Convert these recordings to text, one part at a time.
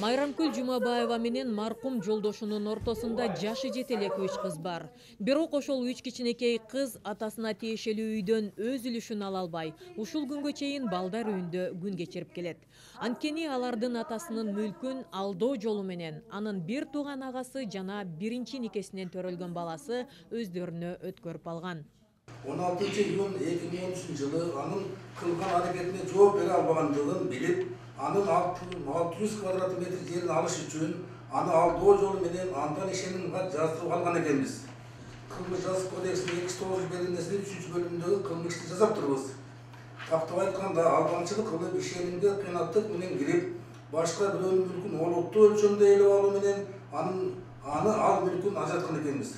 Майрамкүл Жумабаева менен маркум жолдошунун ортосунда жашы жете элек 3 кыз бар. Бирок ошол 3 кичинекей кыз атасына тиешелүү үйдөн өз үлүшүн ала албай, ушул күнгө чейин балдар үйүндө күн кечирип келет. Анткени алардын атасынын мүлкүн алдоо жолу менен анын бир тууган агасы жана биринчи никесинен төрөлгөн баласы өздөрүнө өткөрүп алган. 16-июнь 2013 жылы анын кылган аракетине жооп бере албагандыгын билип, анын 600 квадрат метр жерин алыш үчүн аны алдоо жолу менен андан ишенимге жаздырып алган экенбиз. Кылмыш жаза кодексинин 209 беренесинин 3-бөлүмүндөгү кылмышты жасап турбуз. Тактап айтканда, албанчылык кылып ишенимге кыйнаттык менен кирип, башка бирөөнүн мүлкүн олуттуу өлчөмдө ээлеп алуу менен ал мүлкүн ажыраткан экенбиз.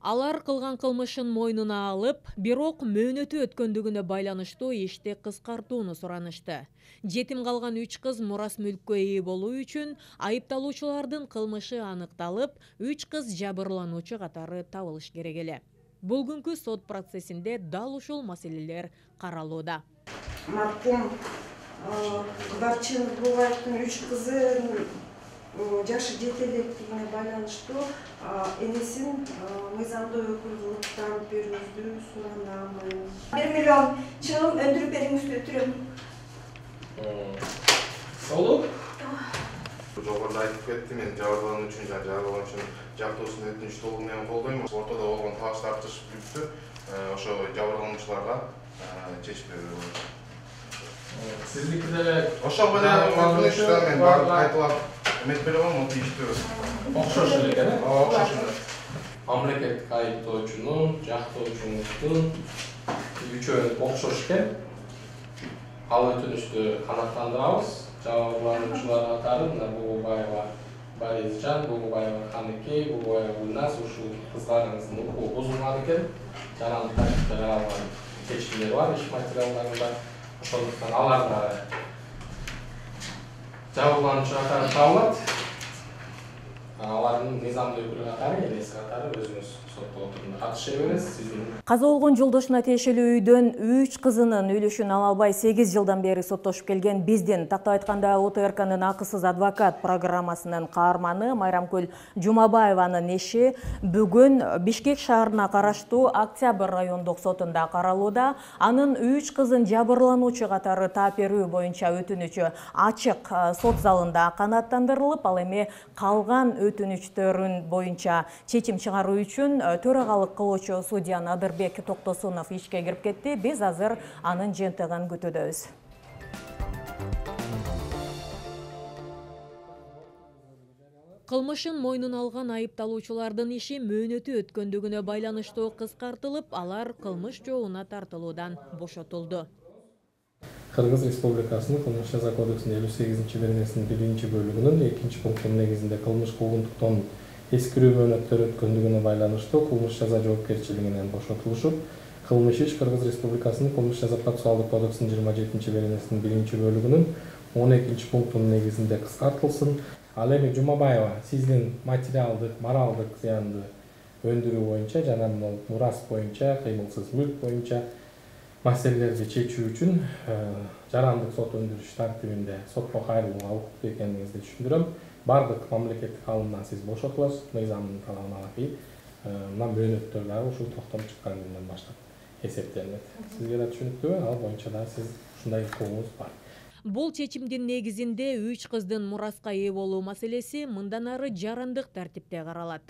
Алар кылган кылмышын мойнуна алып, бирок мөөнөтү өткөндүгүнө байланыштуу ишти кыскартууну суранышты. Жетим калган 3 кыз мурас мүлккө ээ болуу үчүн айыпталуучулардын кылмышы аныкталып, 3 кыз жабырлануучу катары табылыш керек эле. Бүгүнкү сот процессинде дал ушул маселелер каралууда. Маркум Кыдарчын Булгаевдин 3 кызы жашы жете электигине байланыштуу энесин мыйзамдуу өкүлдүктөн берүүбүздү суранам. 1 миллион чыгым өндүрүп бериңиз өтүрөм. Болуп? Жогоруда айтып кетти, мен жабырлануучу жактоосун өтүнүч толугу менен колдойм. Ортодо болгон талаш тартыш бүттү. Ошо жабырлануучуларга чечип берүү болот. Сиздикиде ошого өтүнүчтөр мен барып кайталап эмет бере алам, тийиштүү. Окшош эле экен, э? Окшош эле. Мамлекеттик айыптоочунун, жактоочунун үчөө окшош экен. Ал өтүнүштү канааттандырабыз. Жабырлануучулар катары мына Бугубаева Борисжан, Бугубаева Каныкей, Бугубаева Гүлназ ушул кыздарыңыздын укугу бузулган экен. Жарандык тартипте каралган чечимдер бар иш материалдарында. Ошондуктан алар да жабырлануучу катары табылат. Алардын мыйзамдуу өкүлү катары, энеси катары өзүңүз сотто отурумда катыша бересиз. Каза болгон жолдошуна тиешелүү үйдөн 3 кызынын үлүшүн ала албай 8 жылдан бери соттошуп келген биздин, тактап айтканда ОТРКнын акысыз адвокат программасынын каарманы Майрамкүл Жумабаеванын иши бүгүн Бишкек шаарына караштуу Октябрь райондук сотунда каралууда. Анын 3 кызын жабырлануучу катары таап берүү боюнча өтүнүчү ачык сот залында канааттандырылып, ал эми калган өтүнүчтөрүн боюнча чечим чыгаруу үчүн төрагалык кылуучу судья Надырбек Токтосунов ишке кирип кетти. Биз азыр анын жыйынтыгын күтүүдөбүз. Кылмышын мойнуна алган айыпталуучулардын иши мөөнөтү өткөндүгүнө байланыштуу кыскартылып, алар кылмыш жообуна тартылуудан бошотулду. Кыргыз Республикасынын Кылмыш жаза кодексинин 58 беренесинин 1-бөлүгүнүн 2-пунктунун негизинде кылмыш куугунтуктан эскирүү мөөнөттөр өткөндүгүнө байланыштуу кылмыш жаза жоопкерчилигинен бошотулушуп, кылмыш иш Кыргыз Республикасынын Кылмыш жаза процессуалдык кодексинин 27 беренесинин 1-бөлүгүнүн 12-пунктунун негизинде кыскартылсын. Ал эми Жумабаева сиздин материалдык, моралдык зыянды өндүрүү боюнча жана мурас боюнча, кыймылсыз мүлк боюнча маселелерди чечүү үчүн жарандык сот өндүрүш тартибинде сотко кайрылууга укуктуу экениңизди түшүндүрөм. Бардык мамлекеттик алымдан сиз бошотуласыз, мыйзамдын талабына ылайык. Мына мөөнөттөр дагы ушул токтом чыккан күндөн баштап эсептелет. Сизге да түшүнүктүүбү? Ал боюнча да сиз ушундай укугуңуз бар. Бул чечимдин негизинде 3 кыздын мураска ээ болуу маселеси мындан ары жарандык тартипте каралат.